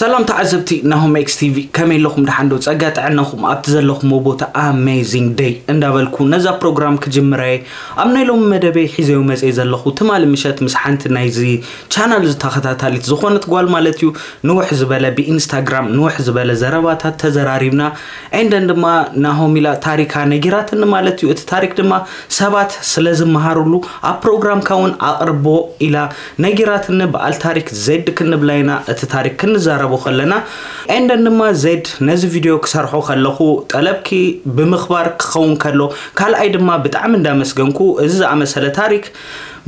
ሰላም ተዓዘብቲ ናሆም ኤክስ ቲቪ፣ ከመይ ኣለኹም? ደሓን ዶ? ጸጋ ጥዕናኹም ኣብቲ ዘለኹምዎ ቦታ ኣሜዚንግ ደይ እንዳበልኩ ነዛ ፕሮግራም ክጅምራ እየ። ኣብ ናይ ሎሚ መደበይ ሒዘዮ መጽየ ዘለኹ ትማሊ ምሸት ምስ ሓንቲ ናይዚ ቻናል ዝተኸታታሊት ዝኾነት ጓል ማለት እዩ፣ ንውሕ ዝበለ ብኢንስታግራም ንውሕ ዝበለ ዘረባታት ተዘራሪብና። ኤንደን ድማ ናሆም ኢላ ታሪካ ነጊራትኒ ማለት እዩ። እቲ ታሪክ ድማ ሰባት ስለ ዝመሃሩሉ ኣብ ፕሮግራምካ እውን ኣቕርቦ ኢላ ነጊራትኒ። በዓል ታሪክ ዜድ ክንብላ ኢና፣ እቲ ታሪክ ክንዛረቦ ከለና። ኤንደን ድማ ዜድ ነዚ ቪድዮ ክሰርሖ ከለኹ ጠለብኪ ብምኽባር ክኸውን ከሎ፣ ካልኣይ ድማ ብጣዕሚ እንዳመስገንኩ እዚ ዝኣመሰለ ታሪክ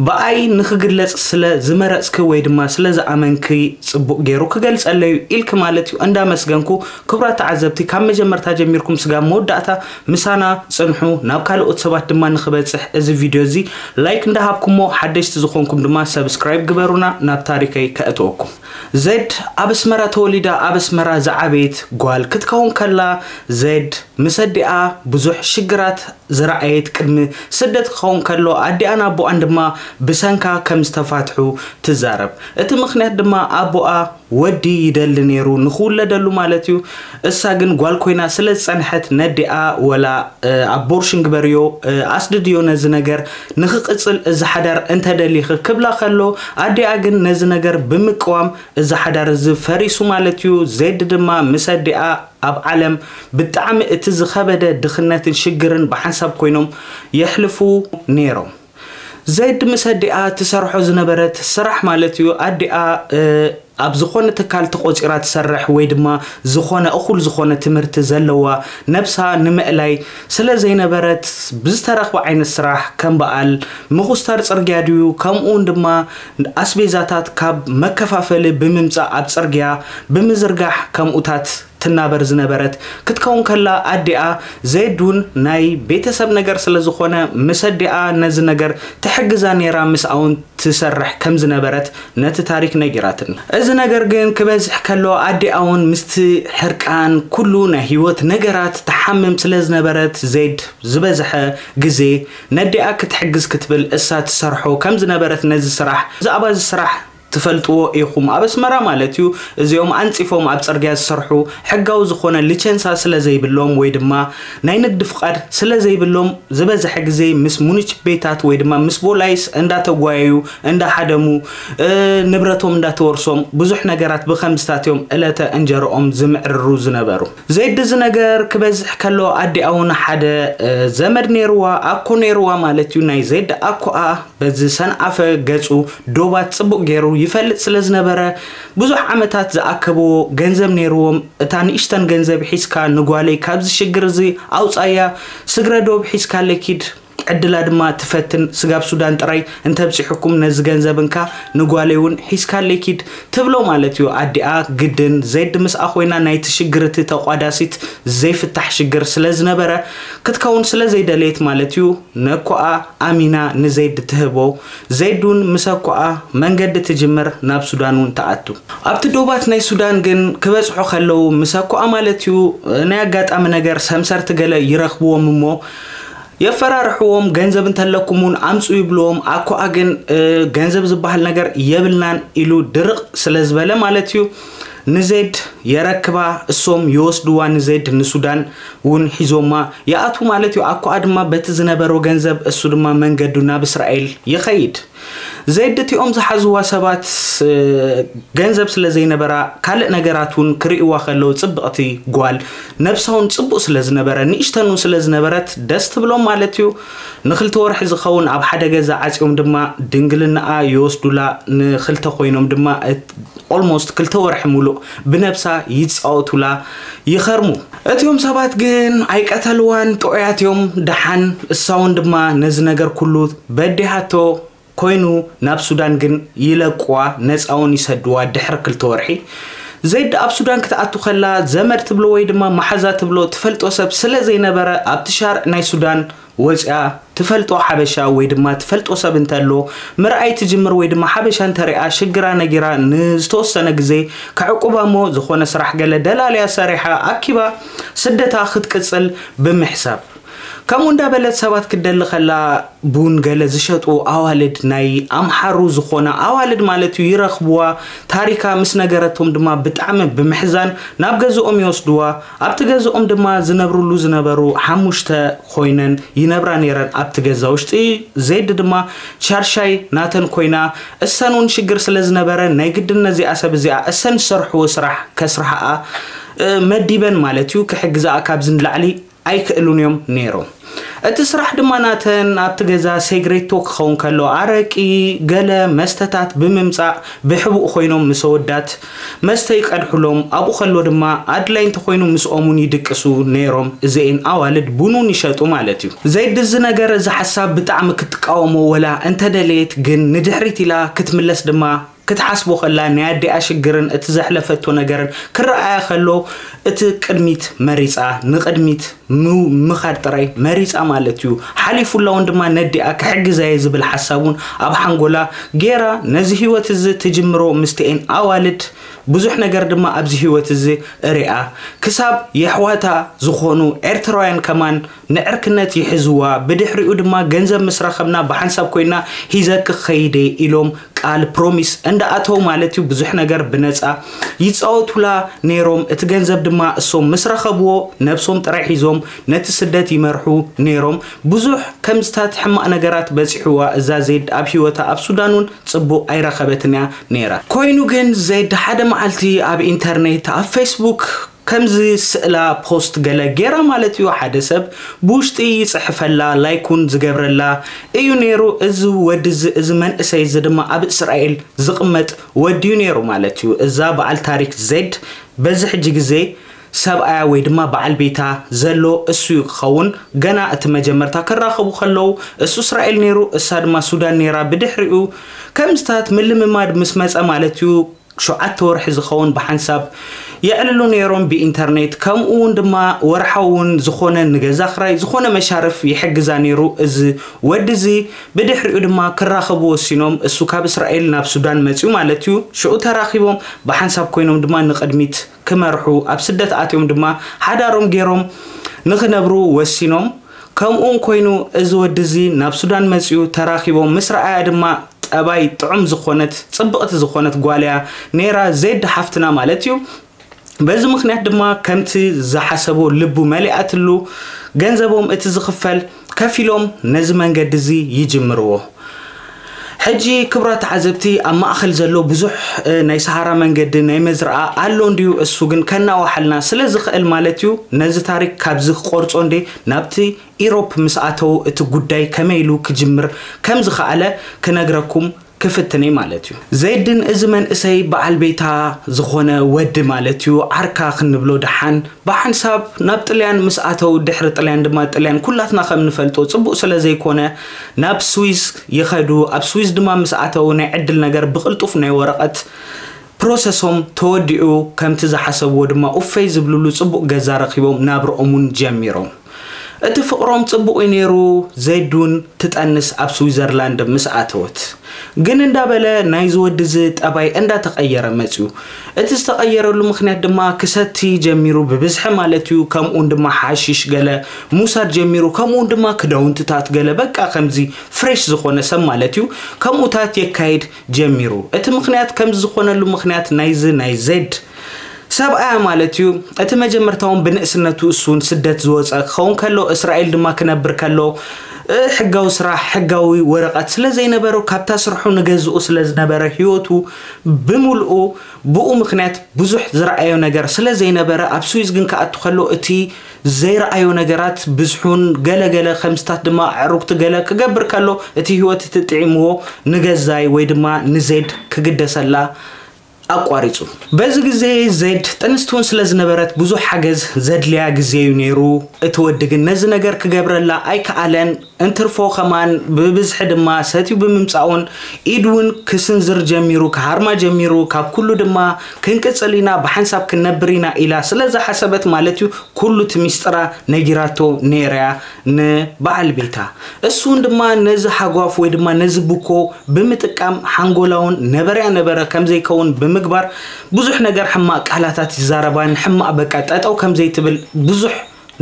ብኣይ ንክግለጽ ስለ ዝመረጽኪ ወይ ድማ ስለ ዝኣመንኪ ጽቡቕ ገይሩ ክገልጸለዩ ኢልኪ ማለት እዩ። እንዳመስገንኩ ክቡራት ተዓዘብቲ፣ ካብ መጀመርታ ጀሚርኩም ስጋብ መወዳእታ ምሳና ጽንሑ። ናብ ካልኦት ሰባት ድማ ንክበጽሕ እዚ ቪድዮ እዚ ላይክ እንዳሃብኩሞ፣ ሓደሽቲ ዝኾንኩም ድማ ሰብስክራይብ ግበሩና። ናብ ታሪከይ ከእትወኩም። ዜድ ኣብ ኣስመራ ተወሊዳ ኣብ ኣስመራ ዝዓበየት ጓል ክትከውን ከላ፣ ዜድ ምስ ኣዲኣ ብዙሕ ሽግራት ዝረኣየት፣ ቅድሚ ስደት ክኸውን ከሎ ኣዲኣን ኣቦኣን ድማ ብሰንካ ከም ዝተፋትሑ ትዛረብ። እቲ ምኽንያት ድማ ኣቦኣ ወዲ ይደሊ ነይሩ ንኽውለደሉ ማለት እዩ። እሳ ግን ጓል ኮይና ስለ ዝጸንሐት ነዲኣ ወላ ኣቦርሽን ግበርዮ፣ ኣስድድዮ ነዚ ነገር ንኽቕጽል እዚ ሓዳር እንተደሊኺ ክብላ ከሎ፣ ኣዲኣ ግን ነዚ ነገር ብምቅዋም እዚ ሓዳር እዚ ፈሪሱ ማለት እዩ። ዜድ ድማ ምስ ኣዲኣ ኣብ ዓለም ብጣዕሚ እቲ ዝኸበደ ድኽነትን ሽግርን ብሓንሳብ ኮይኖም የሕልፉ ነይሮም። ዜድ ምስ ኣዲኣ ትሰርሖ ዝነበረት ስራሕ ማለት እዩ፣ ኣዲኣ ኣብ ዝኾነ ትካል ተቖጺራ ትሰርሕ ወይ ድማ ዝኾነ እኹል ዝኾነ ትምህርቲ ዘለዋ፣ ነብሳ ንምእላይ ስለ ዘይነበረት ብዝተረኽበ ዓይነት ስራሕ ከም በዓል ምኹስታር ጽርግያ ድዩ፣ ከምኡውን ድማ ኣስቤዛታት ካብ መከፋፈሊ ብምምጻእ ኣብ ጽርግያ ብምዝርጋሕ ከምኡታት ትናበር ዝነበረት ክትከውን ከላ፣ ኣዲኣ ዜድ እውን ናይ ቤተሰብ ነገር ስለ ዝኾነ ምስ ኣዲኣ ነዚ ነገር ትሕግዛ ነይራ። ምስኣ እውን ትሰርሕ ከም ዝነበረት ነቲ ታሪክ ነጊራትኒ። እዚ ነገር ግን ክበዝሕ ከሎ ኣዲኣ እውን ምስቲ ሕርቃን ኩሉ ናይ ህይወት ነገራት ትሓምም ስለ ዝነበረት፣ ዜድ ዝበዝሐ ግዜ ነዲኣ ክትሕግዝ ክትብል እሳ ትሰርሖ ከም ዝነበረት፣ ነዚ ስራሕ ብዛዕባ እዚ ስራሕ ትፈልጥዎ ኢኹም። ኣብ ኣስመራ ማለት እዩ፣ እዚኦም ኣንጺፎም ኣብ ጽርግያ ዝሰርሑ ሕጋዊ ዝኾነ ሊቸንሳ ስለ ዘይብሎም ወይ ድማ ናይ ንግዲ ፍቓድ ስለ ዘይብሎም፣ ዝበዝሐ ግዜ ምስ ሙኒች ቤታት ወይ ድማ ምስ ቦላይስ እንዳተጓየዩ እንዳሓደሙ ንብረቶም እንዳተወርሶም ብዙሕ ነገራት ብኸምዝታት እዮም ዕለተ እንጀርኦም ዝምዕርሩ ዝነበሩ። ዜድ እዚ ነገር ክበዝሕ ከሎ ኣዲኣ እውን ሓደ ዘመድ ነይርዋ፣ ኣኮ ነይርዋ ማለት እዩ። ናይ ዜድ ኣኮኣ በዚ ሰንኣፈ ገጹ ዶባት ጽቡቕ ገይሩ ይፈልጥ ስለ ዝነበረ፣ ብዙሕ ዓመታት ዝኣከብዎ ገንዘብ ነይርዎም። እታ ንእሽተን ገንዘብ ሒዝካ ንጓለይ ካብዚ ሽግር እዚ ኣውጻያ፣ ስግረ ዶብ ሒዝካለይ ኪድ፣ ዕድላ ድማ ትፈትን፣ ስጋብ ሱዳን ጥራይ እንተብጺሑኩም ነዚ ገንዘብ እንካ ንጓለይ እውን ሒዝካለይ ኪድ ትብሎ ማለት እዩ። ኣዲኣ ግድን ዜድ ምስኣ ኮይና ናይቲ ሽግር እቲ ተቋዳሲት ዘይፍታሕ ሽግር ስለ ዝነበረ ክትከውን ስለ ዘይደለየት ማለት እዩ፣ ነኮኣ ኣሚና ንዜድ ትህቦ። ዜድ እውን ምስ ኣኮኣ መንገዲ ትጅምር፣ ናብ ሱዳን እውን ትኣቱ። ኣብቲ ዶባት ናይ ሱዳን ግን ክበጽሑ ከለዉ ምስ ኣኮኣ ማለት እዩ ናይ ኣጋጣሚ ነገር ሰምሰርቲ ገለ ይረኽብዎም እሞ የፈራርሕዎም፣ ገንዘብ እንተለኩም እውን ኣምፁ ይብልዎም። ኣኮኣ ግን ገንዘብ ዝበሃል ነገር የብልናን ኢሉ ድርቕ ስለ ዝበለ ማለት እዩ ንዜድ የረክባ፣ እሶም ይወስድዋ ንዜድ ንሱዳን እውን ሒዞማ ይኣትዉ ማለት እዩ። ኣኮኣ ድማ በቲ ዝነበሮ ገንዘብ እሱ ድማ መንገዱ ናብ እስራኤል ይኸይድ። ዜድ እቲኦም ዝሓዝዋ ሰባት ገንዘብ ስለ ዘይነበራ ካልእ ነገራት እውን ክርእይዋ ከለዉ ጽብቕቲ ጓል ነብሳ እውን ጽቡቕ ስለ ዝነበረ ንእሽተን እውን ስለ ዝነበረት ደስ ትብሎም ማለት እዩ። ንክልተ ወርሒ ዝኸውን ኣብ ሓደ ገዛ ዓጽዮም ድማ ድንግልናኣ ይወስዱላ። ንክልተ ኮይኖም ድማ ኦልሞስት ክልተ ወርሒ ሙሉእ ብነብሳ ይጻወቱላ ይኸርሙ። እቲኦም ሰባት ግን ኣይቀተልዋን፣ ጥዑያት እዮም። ደሓን እሳ እውን ድማ ነዚ ነገር ኩሉ በዲሃቶ ኮይኑ ናብ ሱዳን ግን ይለቅዋ፣ ነፃውን ይሰድዋ። ድሕሪ ክልተ ወርሒ ዜድ ኣብ ሱዳን ክትኣቱ ከላ ዘመድ ትብሎ ወይ ድማ መሓዛ ትብሎ ትፈልጦ ሰብ ስለ ዘይነበረ ኣብቲ ሻርዕ ናይ ሱዳን ወፂኣ ትፈልጦ ሓበሻ ወይ ድማ ትፈልጦ ሰብ እንተሎ ምርኣይ ትጅምር ወይ ድማ ሓበሻ እንተሪኣ ሽግራ ነጊራ ንዝተወሰነ ግዜ ከዕቁባ እሞ ዝኾነ ስራሕ ገለ ደላልያ ሰሪሓ ኣኪባ ስደታ ክትቅፅል ብምሕሳብ ከምኡ እንዳበለት ሰባት ክትደሊ ከላ፣ ቡን ገለ ዝሸጡ ኣዋልድ፣ ናይ ኣምሓሩ ዝኾና ኣዋልድ ማለት እዩ፣ ይረኽብዋ። ታሪካ ምስ ነገረቶም ድማ ብጣዕሚ ብምሕዛን ናብ ገዝኦም ይወስድዋ። ኣብቲ ገዝኦም ድማ ዝነብርሉ ዝነበሩ ሓሙሽተ ኮይነን ይነብራ ነይረን ኣብቲ ገዛ ውሽጢ። ዜድ ድማ ሻርሻይ ናተን ኮይና፣ እሰን እውን ሽግር ስለ ዝነበረ ናይ ግድን ነዚኣ ሰብ እዚኣ እሰን ዝሰርሕዎ ስራሕ ከስርሓኣ መዲበን ማለት እዩ፣ ክሕግዛኣ ካብዚ ንላዕሊ ኣይክእሉን እዮም ነይሮም። እቲ ስራሕ ድማ ናተን ኣብቲ ገዛ ሴግሬቶ ክኸውን ከሎ፣ ኣረቂ፣ ገለ መስተታት ብምምጻእ ብሕቡእ ኮይኖም ምስ ኣወዳት መስተ ይቀድሕሎም። ኣብኡ ከሎ ድማ ኣድላይ እንተኮይኑ ምስኦም እውን ይድቅሱ ነይሮም። እዚኤን ኣዋልድ ቡን እውን ይሸጡ ማለት እዩ። ዘይድ እዚ ነገር፣ እዚ ሓሳብ ብጣዕሚ ክትቃወሞ ወላ እንተደለየት፣ ግን ንድሕሪት ኢላ ክትምለስ ድማ ክትሓስቦ ከላ፣ ናይ ኣዲኣ ሽግርን እቲ ዘሕለፈቶ ነገርን ክረኣያ ከሎ፣ እቲ ቅድሚት መሪጻ፣ ንቅድሚት ም- ምኻድ ጥራይ መሪጻ ማለት እዩ። ሓሊፉላ እውን ድማ ነዲኣ ክሕግዛ እየ ዝብል ሓሳብ እውን ኣብ ሓንጎላ ገይራ፣ ነዚ ህይወት እዚ ትጅምሮ ምስቲኤን ኣዋልድ ብዙሕ ነገር ድማ ኣብዚ ህይወት እዚ እሪኣ፣ ክሳብ የሕዋታ ዝኾኑ ኤርትራውያን ከማን ንዕርክነት ይሕዝዋ። ብድሕሪኡ ድማ ገንዘብ ምስ ረኸብና ብሓንሳብ ኮይና ሂዘኪ ክኸይድ እየ ኢሎም ቃል ፕሮሚስ እንዳኣተው ማለት እዩ፣ ብዙሕ ነገር ብነጻ ይጻወቱላ ነይሮም። እቲ ገንዘብ ድማ እሶም ምስ ረኸብዎ ነብሶም ጥራይ ሒዞም ነቲ ስደት ይመርሑ ነይሮም። ብዙሕ ከምዝታት ሕማቕ ነገራት በጺሕዋ እዛ ዜድ ኣብ ህይወታ። ኣብ ሱዳን እውን ጽቡቕ ኣይረኸበትን እያ ነይራ። ኮይኑ ግን ዜድ ሓደ መዓልቲ ኣብ ኢንተርኔት ኣብ ፌስቡክ ከምዚ ስእላ ፖስት ገለ ገይራ ማለት እዩ። ሓደ ሰብ ብውሽጢ ይጽሕፈላ፣ ላይክ እውን ዝገብረላ እዩ ነይሩ። እዚ ወዲ እዚ፣ እዚ መንእሰይ እዚ ድማ ኣብ እስራኤል ዝቕመጥ ወዲ እዩ ነይሩ ማለት እዩ። እዛ በዓል ታሪክ ዜድ በዚ ሕጂ ግዜ ሰብኣያ ወይ ድማ በዓል ቤታ ዘሎ እሱ እዩ ክኸውን። ገና እቲ መጀመርታ ክራኸቡ ከለዉ እሱ እስራኤል ነይሩ፣ እሳ ድማ ሱዳን ነይራ። ብድሕሪኡ ከምዝታት ምልምማድ ምስ መጸ ማለት እዩ፣ ሸውዓተ ወርሒ ዝኸውን ብሓንሳብ የዕልሉ ነይሮም ብኢንተርኔት። ከምኡ እውን ድማ ወርሓዊ እውን ዝኾነ ንገዛ ክራይ ዝኾነ መሻርፍ ይሕግዛ ነይሩ እዚ ወዲ እዚ። ብድሕሪኡ ድማ ክራኸቡ ወሲኖም። እሱ ካብ እስራኤል ናብ ሱዳን መጺኡ ማለት እዩ። ሽዑ ተራኺቦም ብሓንሳብ ኮይኖም ድማ ንቕድሚት ክመርሑ፣ ኣብ ስደት ኣትዮም ድማ ሓዳሮም ገይሮም ንኽነብሩ ወሲኖም። ከምኡ እውን ኮይኑ እዚ ወዲ እዚ ናብ ሱዳን መጺኡ ተራኺቦም ምስ ረኣያ ድማ ጠባይ ጥዑም ዝኾነት ጽብቕቲ ዝኾነት ጓል እያ ነይራ ዜድ ሓፍትና ማለት እዩ። በዚ ምኽንያት ድማ ከምቲ ዝሓሰቦ ልቡ መሊኣትሉ፣ ገንዘቦም እቲ ዝኽፈል ከፊሎም ነዚ መንገዲ እዚ ይጅምርዎ። ሕጂ ክቡራት ተዓዘብቲ፣ ኣብ ማእኸል ዘሎ ብዙሕ እ፣ ናይ ሰሃራ መንገዲ ናይ መዝርኣ ኣሎ እንድዩ። እሱ ግን ከናዋሓልና ስለ ዝኽእል ማለት እዩ፣ ነዚ ታሪክ ካብዚ ክቆርጾ እንዴ ናብቲ ኢሮፕ ምስ ኣተው እቲ ጉዳይ ከመይ ኢሉ ክጅምር ከም ዝኸኣለ ክነግረኩም ክፍትን እየ ማለት እዩ። ዘይድን እዚ መንእሰይ በዓል ቤታ ዝኾነ ወዲ ማለት እዩ፣ ዓርካ ክንብሎ ደሓን ብሓንሳብ ናብ ጥልያን ምስ ኣተው፣ ድሕሪ ጥልያን ድማ ጥልያን ኩላትና ከም ንፈልጦ ጽቡቕ ስለ ዘይኮነ ናብ ስዊዝ ይኸዱ። ኣብ ስዊዝ ድማ ምስ ኣተው ናይ ዕድል ነገር ብቕልጡፍ ናይ ወረቐት ፕሮሰሶም ተወዲኡ፣ ከምቲ ዝሓሰብዎ ድማ ኡፈይ ዝብልሉ ጽቡቕ ገዛ ረኺቦም ናብርኦም እውን ጀሚሮም። እቲ ፍቕሮም ጽቡቕ እዩ ነይሩ። ዘይድ እውን ትጠንስ ኣብ ስዊዘርላንድ ምስ ኣተወት። ግን እንዳበለ ናይዚ ወዲ እዚ ጠባይ እንዳተቐየረ መጽዩ። እቲ ዝተቐየረሉ ምኽንያት ድማ ክሰቲ ጀሚሩ ብብዝሒ ማለት እዩ። ከምኡውን ድማ ሓሺሽ ገለ ምውሳድ ጀሚሩ። ከምኡውን ድማ ክዳውንትታት ገለ በቃ ከምዚ ፍሬሽ ዝኾነ ሰብ ማለት እዩ። ከምኡታት የካይድ ጀሚሩ። እቲ ምኽንያት ከምዚ ዝኾነሉ ምኽንያት ናይዚ ናይ ዜድ ሰብኣያ ማለት እዩ። እቲ መጀመርታውን ብንእስነቱ እሱን ስደት ዝወፀ ክኸውን ከሎ እስራኤል ድማ ክነብር ከሎ እ፣ ሕጋዊ ስራሕ ሕጋዊ ወረቐት ስለ ዘይነበሮ ካብታ ስርሑ ንገዝኡ ስለ ዝነበረ ህይወቱ ብምልኡ ብኡ ምኽንያት ብዙሕ ዝረኣዮ ነገር ስለ ዘይነበረ ኣብ ስዊዝ ግን ክኣቱ ከሎ እቲ ዘይረኣዮ ነገራት ብዝሑን ገለገለ ከምስታት ድማ ኣዕሩግቲ ገለ ክገብር ከሎ እቲ ህይወት እቲ ጥዒምዎ ንገዛይ ወይ ድማ ንዜድ ክግደሰላ ኣቋሪጹ። በዚ ግዜ ዜድ ጥንስቲ እውን ስለ ዝነበረት ብዙሕ ሓገዝ ዘድልያ ግዜ እዩ ነይሩ። እቲ ወዲ ግን ነዚ ነገር ክገብረላ ኣይከኣለን። እንትርፎ ከማን ብብዝሒ ድማ ሰትዩ ብምምጻኡን ኢድ እውን ክስንዝር ጀሚሩ፣ ክሃርማ ጀሚሩ። ካብ ኩሉ ድማ ክንቅጽል ኢና፣ ብሓንሳብ ክንነብር ኢና ኢላ ስለ ዝሓሰበት ማለት እዩ ኩሉ እቲ ሚስጥራ ነጊራቶ ነይራ እያ ንበዓል ቤታ። እሱን ድማ ነዚ ሃጓፍ ወይ ድማ ነዚ ብኮ ብምጥቃም ሓንጎላውን ነበረያ ነበረ ከም ዘይከውን ብምግባር ብዙሕ ነገር ሕማቕ ቃላታት ይዛረባን ሕማቕ በቃ ጠጠው ከም ዘይትብል ብዙሕ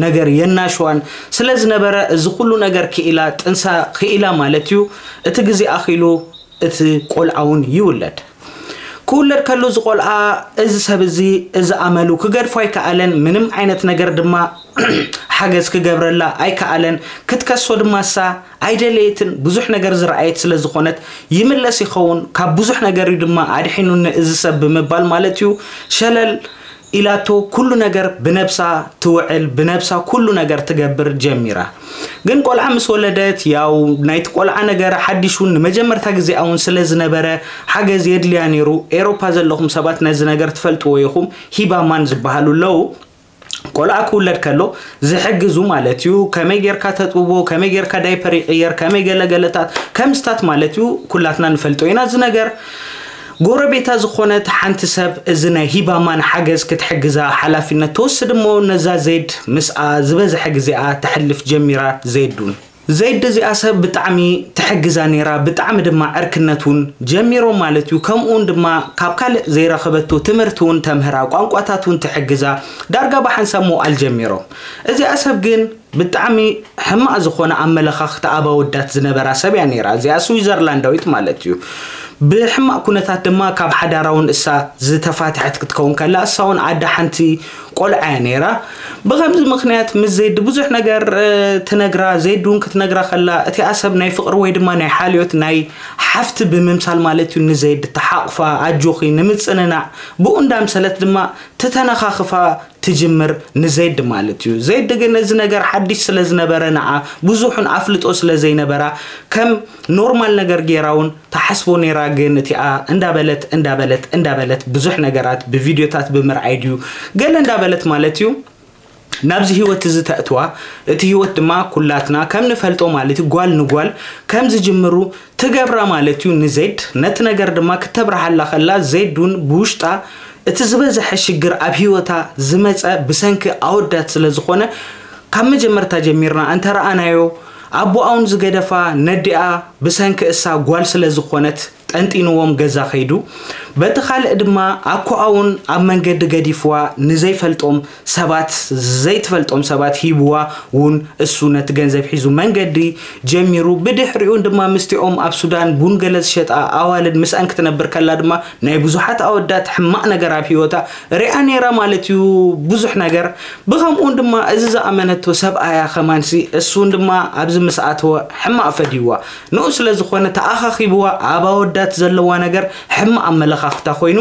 ነገር የናሽዋን ስለ ዝነበረ፣ እዚ ኩሉ ነገር ክኢላ ጥንሳ ክኢላ ማለት እዩ። እቲ ግዜ ኣኺሉ እቲ ቆልዓ እውን ይውለድ። ክውለድ ከሎ እዚ ቆልዓ፣ እዚ ሰብ እዚ፣ እዚ ኣመሉ ክገድፎ ኣይከኣለን። ምንም ዓይነት ነገር ድማ ሓገዝ ክገብረላ ኣይከኣለን። ክትከሶ ድማ እሳ ኣይደለየትን። ብዙሕ ነገር ዝረኣየት ስለ ዝኾነት፣ ይምለስ ይኸውን፣ ካብ ብዙሕ ነገር እዩ ድማ ኣድሒኑኒ እዚ ሰብ ብምባል ማለት እዩ። ሸለል ኢላቶ፣ ኩሉ ነገር ብነብሳ ትውዕል፣ ብነብሳ ኩሉ ነገር ትገብር ጀሚራ። ግን ቆልዓ ምስ ወለደት፣ ያው ናይቲ ቆልዓ ነገር ሓዲሹን ንመጀመርታ ግዜኣ እውን ስለ ዝነበረ፣ ሓገዝ የድልያ ነይሩ። ኤሮፓ ዘለኹም ሰባት ነዚ ነገር ትፈልጥዎ ኢኹም። ሂባማን ዝበሃሉ ኣለዉ። ቆልዓ ክውለድ ከሎ ዝሕግዙ ማለት እዩ። ከመይ ጌርካ ተጥብቦ፣ ከመይ ጌርካ ዳይፐር ይቕየር፣ ከመይ ገለገለታት፣ ከምስታት ማለት እዩ። ኩላትና ንፈልጦ ኢና እዚ ነገር። ጎረቤታ ዝኾነት ሓንቲ ሰብ እዚ ናይ ሂባማን ሓገዝ ክትሕግዛ ሓላፊነት ትወስድ እሞ፣ ነዛ ዜድ ምስኣ ዝበዝሐ ግዜኣ ተሕልፍ ጀሚራ። ዜድ እውን፣ ዜድ እዚኣ ሰብ ብጣዕሚ ትሕግዛ ነይራ። ብጣዕሚ ድማ ዕርክነት እውን ጀሚሮም ማለት እዩ። ከምኡ እውን ድማ ካብ ካልእ ዘይረኸበቶ ትምህርቲ እውን ተምህራ፣ ቋንቋታት እውን ትሕግዛ፣ ዳርጋ ብሓንሳብ ምውዓል ጀሚሮም። እዚኣ ሰብ ግን ብጣዕሚ ሕማቕ ዝኾነ ኣመለኻኽታ ኣብ ኣወዳት ዝነበራ ሰብ እያ ነይራ። እዚኣ ስዊዘርላንዳዊት ማለት እዩ። ብሕማቕ ኩነታት ድማ ካብ ሓዳራ እውን እሳ ዝተፋትሐት ክትከውን ከላ፣ እሳ እውን ኣደ ሓንቲ ቆልዓ እያ ነይራ። ብኸምዚ ምኽንያት ምስ ዜድ ብዙሕ ነገር፣ እ፣ ትነግራ፣ ዜድ እውን ክትነግራ ከላ፣ እቲኣ ሰብ ናይ ፍቕሪ ወይ ድማ ናይ ሓልዮት ናይ ሓፍቲ ብምምሳል ማለት እዩ፣ ንዜድ ተሓቕፋ፣ ኣጆኺ፣ ንምጽንናዕ፣ ብኡ እንዳምሰለት ድማ ትተነኻኽፋ ትጅምር ንዜድ ማለት እዩ። ዜድ ግን እዚ ነገር ሓድሽ ስለ ዝነበረ፣ ንዓ ብዙሕን ኣፍልጦ ስለ ዘይነበራ፣ ከም ኖርማል ነገር ጌራ እውን ትሓስቦ ነይራ። ግን እቲኣ እንዳበለት፣ እንዳበለት፣ እንዳበለት፣ ብዙሕ ነገራት ብቪድዮታት ብምርኣይ ድዩ ገለ እንዳበለት ማለት እዩ፣ ናብዚ ህይወት እዚ ተእትዋ። እቲ ህይወት ድማ ኩላትና ከም ንፈልጦ ማለት እዩ፣ ጓል ንጓል ከም ዝጅምሩ ትገብራ ማለት እዩ ንዜድ። ነቲ ነገር ድማ ክተብርሃላ ከላ፣ ዜድ እውን ብውሽጣ እቲ ዝበዝሐ ሽግር ኣብ ህይወታ ዝመጸ ብሰንኪ ኣወዳት ስለ ዝኾነ፣ ካብ መጀመርታ ጀሚርና እንተረኣናዮ፣ ኣቦኣ እውን ዝገደፋ ነዲኣ ብሰንኪ እሳ ጓል ስለ ዝኾነት፣ ጠንጢንዎም ገዛ ከይዱ። በቲ ካልእ ድማ ኣኮኣ እውን ኣብ መንገዲ ገዲፍዋ፣ ንዘይፈልጦም ሰባት፣ ዘይትፈልጦም ሰባት ሂብዋ እውን፣ እሱ ነቲ ገንዘብ ሒዙ መንገዲ ጀሚሩ። ብድሕሪኡ ድማ ምስቲኦም ኣብ ሱዳን ቡን ገለ ዝሸጣ ኣዋልድ ምስኣን ክትነብር ከላ ድማ፣ ናይ ብዙሓት ኣወዳት ሕማቕ ነገር ኣብ ህይወታ ሪኣ ነይራ ማለት እዩ፣ ብዙሕ ነገር። ብኸምኡውን ድማ እዚ ዝኣመነቶ ሰብኣያ ከማንሲ፣ እሱን ድማ ኣብዚ ምስ ኣተወ ሕማቕ ፈድይዋ። ንኡ ስለ ዝኾነ ተኣኻኺብዋ፣ ኣብ ኣወዳት ዘለዋ ነገር ሕማቕ ኣመለኻኽታ ኮይኑ፣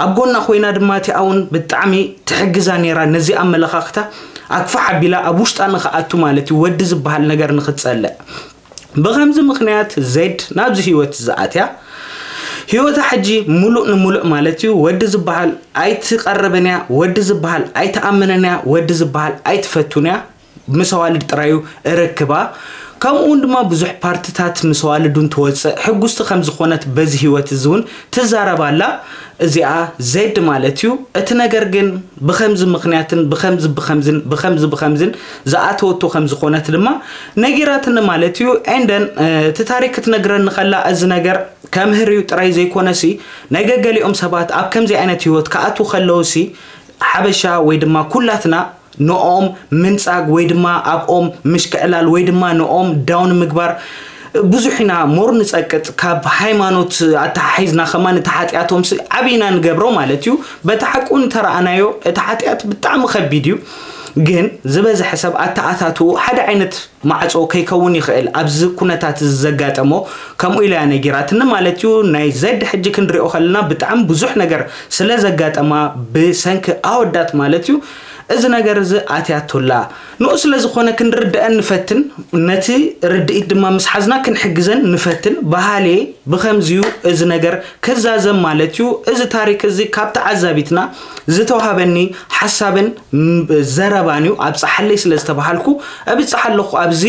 ኣብ ጎና ኮይና ድማ እቲኣ እውን ብጣዕሚ ትሕግዛ ነይራ። ነዚ ኣመለኻኽታ ኣግፋሕ ኣቢላ ኣብ ውሽጣ ንኽኣቱ ማለት እዩ፣ ወዲ ዝበሃል ነገር ንኽትጸልእ። ብኸምዚ ምኽንያት ዜድ ናብዚ ህይወት ዝኣትያ፣ ህይወታ ሕጂ ሙሉእ ንሙሉእ ማለት እዩ፣ ወዲ ዝበሃል ኣይትቐርብን እያ፣ ወዲ ዝበሃል ኣይትኣምንን እያ፣ ወዲ ዝበሃል ኣይትፈቱን እያ። ምስ ኣዋልድ ጥራዩ ርክባ። ከምኡ እውን ድማ ብዙሕ ፓርትታት ምስ ኣዋልዱን ትወፅእ፣ ሕጉስቲ ከም ዝኾነት በዚ ህይወት እዚ እውን ትዛረብ ኣላ። እዚኣ ዜድ ማለት እዩ። እቲ ነገር ግን ብኸምዚ ምኽንያትን ብኸምዚ ብኸምዝን ብኸምዚ ብኸምዝን ዝኣተወቶ ከም ዝኾነት ድማ ነጊራትኒ ማለት እዩ። ኤንደን፣ እ፣ እቲ ታሪክ ክትነግረኒ ከላ፣ እዚ ነገር ከምህር እዩ ጥራይ ዘይኮነሲ፣ ናይ ገገሊኦም ሰባት ኣብ ከምዚ ዓይነት ህይወት ክኣትዉ ከለውሲ፣ ሓበሻ ወይ ድማ ኩላትና ንኦም ምንጻግ ወይ ድማ ኣብኦም ምሽክዕላል ወይ ድማ ንኦም ዳውን ምግባር ብዙሕ ኢና ሞር ንጸቅጥ። ካብ ሃይማኖት ኣተሓሒዝና ከማን እቲ ሓጢኣቶም ስ-፣ ዓቢ ኢና ንገብሮ ማለት እዩ። በቲ ሓቁ እንተረኣናዮ፣ እቲ ሓጢኣት ብጣዕሚ ከቢድ እዩ። ግን ዝበዝሐ ሰብ ኣተኣታትኡ ሓደ ዓይነት ማዕጾ ከይከውን ይኽእል። ኣብዚ ኩነታት እዚ ዘጋጠሞ ከምኡ ኢላ እያ ነጊራትኒ ማለት እዩ። ናይ ዜድ ሕጂ ክንሪኦ ከለና ብጣዕሚ ብዙሕ ነገር ስለ ዘጋጠማ ብሰንኪ ኣወዳት ማለት እዩ። እዚ ነገር እዚ ኣትያቶላ። ንኡ ስለ ዝኾነ ክንርድአን ንፈትን፣ ነቲ ርድኢት ድማ ምስ ሓዝና ክንሕግዘን ንፈትን። በሃልየ ብኸምዚዩ እዚ ነገር ክዛዘም ማለት እዩ። እዚ ታሪክ እዚ ካብ ተዓዛቢትና ዝተዋሃበኒ ሓሳብን ም-፣ ዘረባን እዩ። ኣብጽሓለይ ስለ ዝተባሃልኩ እብጽሕ ኣለኹ ኣብዚ።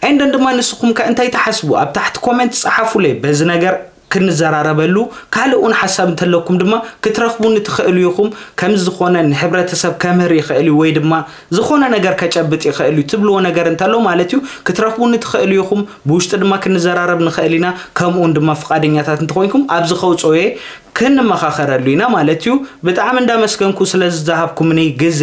ኤንደን ድማ ንስኹም ከ እንታይ ትሓስቡ? ኣብ ታሕቲ ኮሜንት ጸሓፉለይ። በዚ ነገር ክንዘራረበሉ፣ ካልእ እውን ሓሳብ እንተለኩም ድማ ክትረኽቡኒ ትኽእሉ ኢኹም። ከም ዝኾነ ንሕብረተሰብ ከምህር ይኽእል እዩ ወይ ድማ ዝኾነ ነገር ከጨብጥ ይኽእል እዩ ትብልዎ ነገር እንተሎ ማለት እዩ ክትረኽቡኒ ትኽእሉ ኢኹም። ብውሽጢ ድማ ክንዘራረብ ንኽእል ኢና። ከምኡውን ድማ ፍቓደኛታት እንተኾይንኩም ኣብዚ ከውፅኦየ ክንመኻኸረሉ ኢና ማለት እዩ። ብጣዕሚ እንዳመስገንኩ ስለ ዝሃብኩምኒ ግዜ።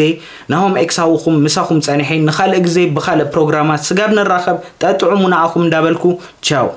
ናሆም ኤክሳውኹም ምሳኹም ጸኒሐ። ንኻልእ ግዜ ብኻልእ ፕሮግራማት ስጋብ ንራኸብ ጠጥዑሙ ንዓኹም እንዳበልኩ ቻው።